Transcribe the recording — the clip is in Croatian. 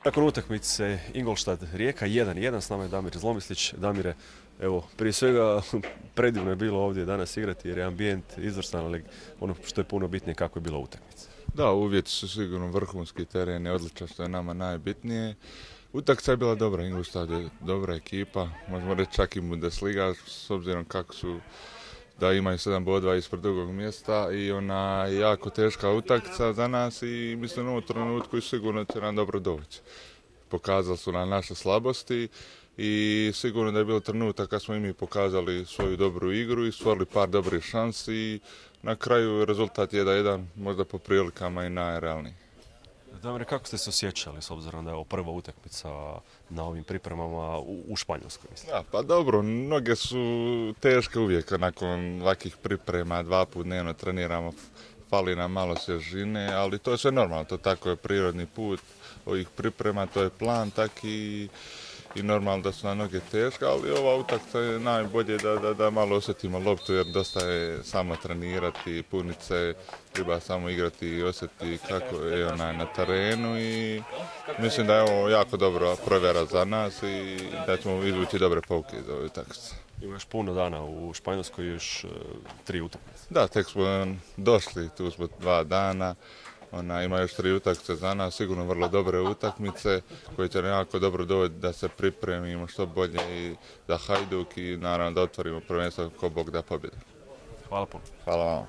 Nakon utakmice Ingolstadt-Rijeka 1:1, s nama je Damir Zlomislić. Damire, evo, prije svega predivno je bilo ovdje danas igrati jer je ambijent izvrstan, ali ono što je puno bitnije kako je bila utakmica. Da, uvjeti su sigurno vrhunski, teren je odličan što je nama najbitnije. Utakmica je bila dobra, Ingolstadt je dobra ekipa, možemo reći čak i Bundesliga s obzirom kako su da imaju 7 bodova ispred drugog mjesta i ona je jako teška utakmica za nas i mislim u ovom trenutku i sigurno će nam dobro doći. Pokazali su nam naše slabosti i sigurno da je bilo trenutak kad smo i mi pokazali svoju dobru igru i stvorili par dobrih šansi i na kraju rezultat 1:1, možda po prilikama i najrealniji. Damire, kako ste se osjećali s obzirom da je ovo prva utakmica na ovim pripremama u Španjolskoj? Mislim? Ja, pa dobro, noge su teške uvijek nakon ovakvih priprema, 2 puta dnevno treniramo, fali nam malo svježine, ali to je sve normalno, to tako je prirodni put ovih priprema, to je plan taki i normalno da su na noge teške, ali ova utakmica je najbolje da malo osjetimo loptu jer dosta je samo trenirati, punit se, treba samo igrati i osjetiti kako je ona na terenu i mislim da je ovo jako dobra provjera za nas i da ćemo izvući dobre pouke iz ove utakmice. Imaš puno dana u Španjolskoj, još 3 utakmice. Da, tek smo došli, tu smo 2 dana. Ima još 3 utakmice za nas, sigurno vrlo dobre utakmice koje će jako dobro doći da se pripremimo što bolje i za Hajduk i naravno da otvorimo prvenstvo ko Bog da pobjede. Hvala puno. Hvala vam.